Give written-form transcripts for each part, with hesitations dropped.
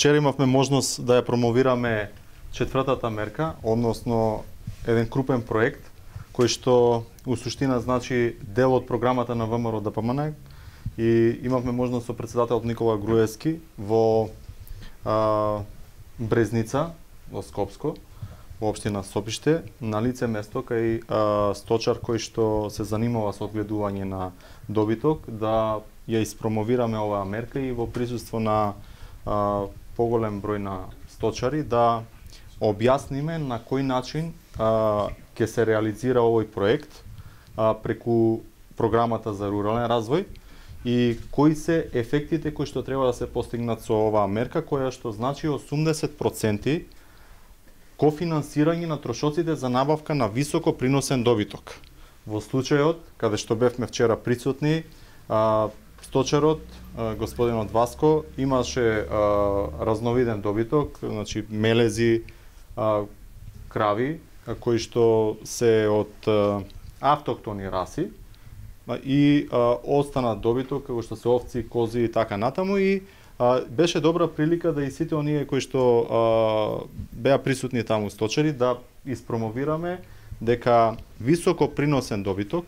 вчера имавме можност да ја промовираме четвртата мерка, односно еден крупен проект кој што у суштина значи дел од програмата на ВМРО ДПМН, и имавме можност со председателот Никола Груевски во Брезница, во Скопско, во општина Сопиште, на лице место кај сточар кој што се занимава со одгледување на добиток, да ја испромовираме оваа мерка и во присуство на поголем број на сточари да објасниме на кој начин ќе се реализира овој проект преку програмата за рурален развој и кои се ефектите кои што треба да се постигнат со оваа мерка, која што значи 80% кофинансирање на трошоците за набавка на високо приносен добиток. Во случајот каде што бевме вчера присутни, сточарот, господинот Васко, имаше разновиден добиток, значи мелези, крави, кои што се од автохтони раси и остана добиток како што се овци, кози и така натаму, и беше добра прилика да и сите оние кои што беа присутни таму сточари да испромовираме дека високо приносен добиток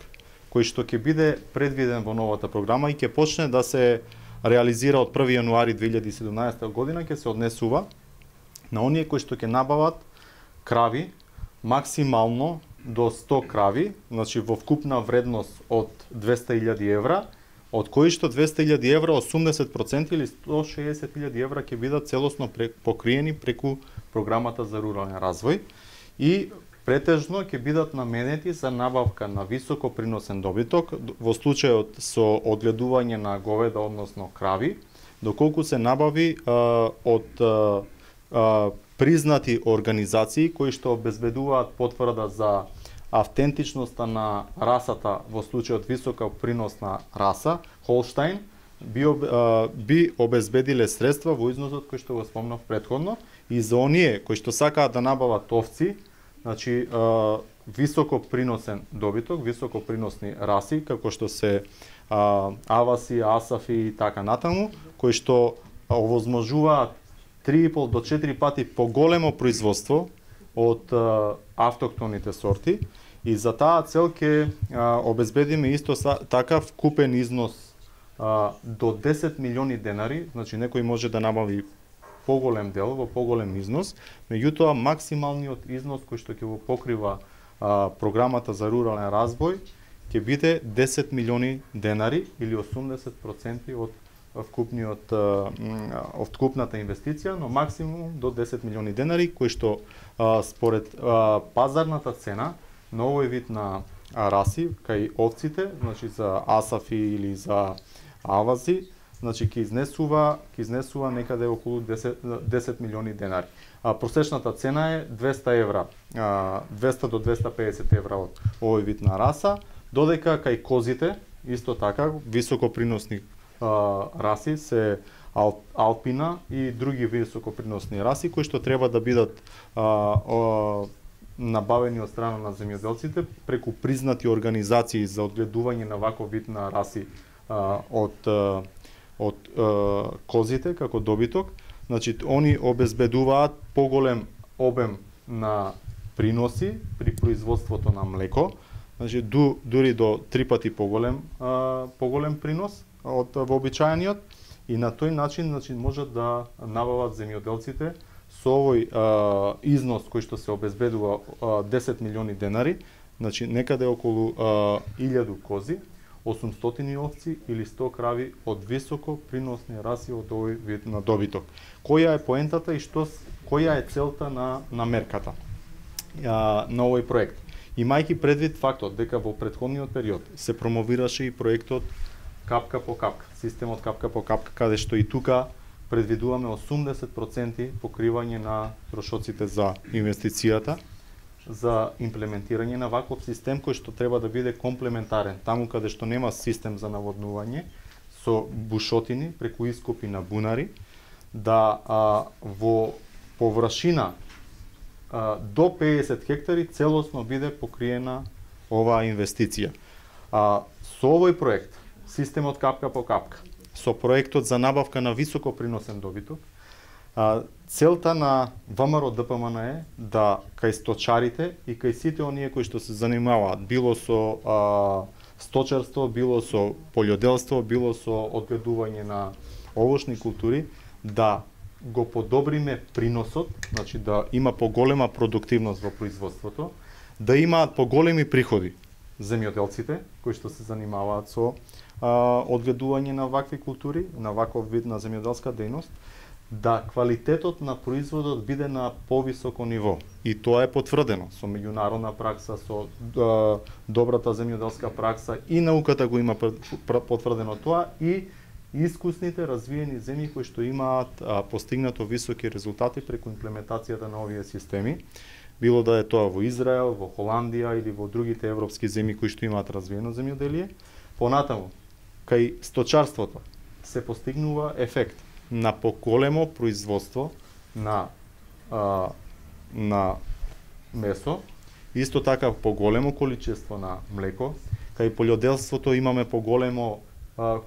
кој што ќе биде предвиден во новата програма и ќе почне да се реализира од 1 јануари 2017 година, ќе се однесува на оние кои што ќе набават крави максимално до 100 крави, значи во вкупна вредност од 200.000 евра, од кои што 200.000 евра, 80% или 160.000 евра ќе бидат целосно покриени преку програмата за рурален развој и претежно ќе бидат наменети за набавка на високо приносен добиток во случајот со одгледување на говеда, односно крави, доколку се набави од признати организации кои што обезбедуваат потврда за автентичноста на расата во случајот висока приносна раса, Холштајн, би обезбедиле средства во износот кој што го спомнав претходно, и за оние кои што сакаат да набават овци, значи високо приносен добиток, високо приносни раси, како што се аваси, асафи и така натаму, кои што овозможуваат 3,5 до 4 пати поголемо производство од автохтоните сорти, и за таа цел ќе обезбедиме исто така вкупен износ до 10 милиони денари, значи некој може да набави поголем дел во поголем износ, меѓутоа максималниот износ кој што ќе го покрива програмата за рурален развој ќе биде 10 милиони денари или 80% од вкупната инвестиција, но максимум до 10 милиони денари, кои што според пазарната цена на овој вид на раси, кај овците, значи за асафи или за авази, значи ќе изнесува некаде околу 10 милиони денари. Просечната цена е 200 евра, 200 до 250 евра од овој вид на раса, додека кај козите исто така високоприносни раси се алпина и други високоприносни раси кои што треба да бидат набавени од страна на земјоделците преку признати организации за одгледување на ваков вид на раси од козите како добиток. Значи они обезбедуваат поголем обем на приноси при производството на млеко, значи дури до 3 пати поголем принос од вообичаениот, и на тој начин значи можат да набават земјоделците со овој износ кој што се обезбедува 10 милиони денари, значи некаде околу 1000 кози, 800 овци или 100 крави од високо приносни раси од овој вид на добиток. Која е поентата и која е целта на мерката на овој проект? Имајќи предвид фактот дека во претходниот период се промовираше и проектот капка по капка, системот капка по капка, каде што и тука предвидуваме 80% покривање на трошоците за инвестицијата, за имплементирање на ваков систем кој што треба да биде комплементарен. Таму каде што нема систем за наводнување со бушотини преку ископи на бунари, да во површина до 50 хектари целосно биде покриена оваа инвестиција. Со овој проект, системот капка по капка, со проектот за набавка на високо приносен добиток, Целта на ВМРО ДПМН е да кај сточарите и кај сите оние кои што се занимаваат било со сточарство, било со полјоделство, било со одгледување на овошни култури, да го подобриме приносот, значи да има поголема продуктивност во производството, да имаат поголеми приходи земјоделците кои што се занимаваат со одгледување на вакви култури, на ваков вид на земјоделска дејност, да квалитетот на производот биде на повисоко ниво. И тоа е потврдено со меѓународна пракса, со добрата земјоделска пракса, и науката го има потврдено тоа, и искусните развиени земји кои што имаат постигнато високи резултати преку имплементацијата на овие системи, било да е тоа во Израел, во Холандија или во другите европски земји кои што имаат развиено земјоделие. Понатаму, кај сточарството се постигнува ефект на поголемо производство на месо, исто така поголемо количество на млеко. Кај полјоделството имаме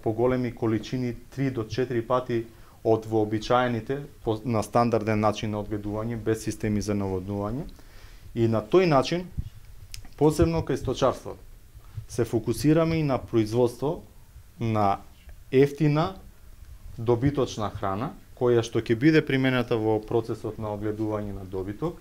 поголеми количини 3 до 4 пати од вообичаените на стандарден начин на одгледување без системи за наводнување. И на тој начин, посебно кај сточарство, се фокусираме и на производство на ефтина добиточна храна, која што ќе биде применета во процесот на одгледување на добиток,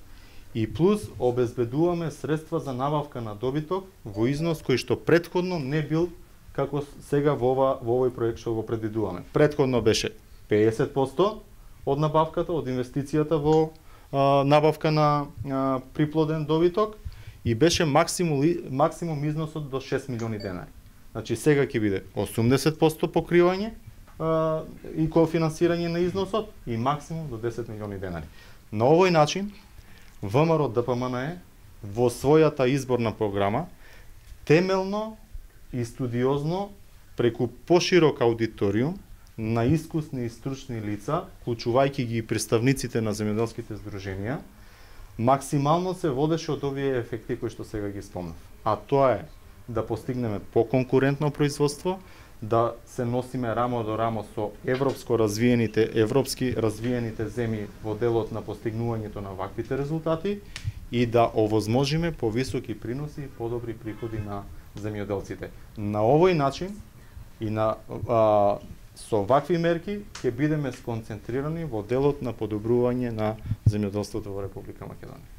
и плюс обезбедуваме средства за набавка на добиток во износ кој што претходно не бил како сега во овој проект што го предвидуваме. Претходно беше 50% од набавката, од инвестицијата во набавка на приплоден добиток, и беше максимум износот до 6 милиони денари. Значи сега ќе биде 80% покривање и кофинансирање на износот и максимум до 10 милиони денари. На овој начин ВМРО ДПМН во својата изборна програма темелно и студиозно преку поширок аудиториум на искусни и стручни лица, вклучувајќи ги представниците на земјоделските здруженија, максимално се водеше од овие ефекти кои што сега ги спомнав. А тоа е да постигнеме поконкурентно производство, да се носиме рамо до рамо со европски развиените земји во делот на постигнувањето на ваквите резултати, и да овозможиме повисоки приноси и подобри приходи на земјоделците. На овој начин и со вакви мерки ќе бидеме сконцентрирани во делот на подобрување на земјоделството во Република Македонија.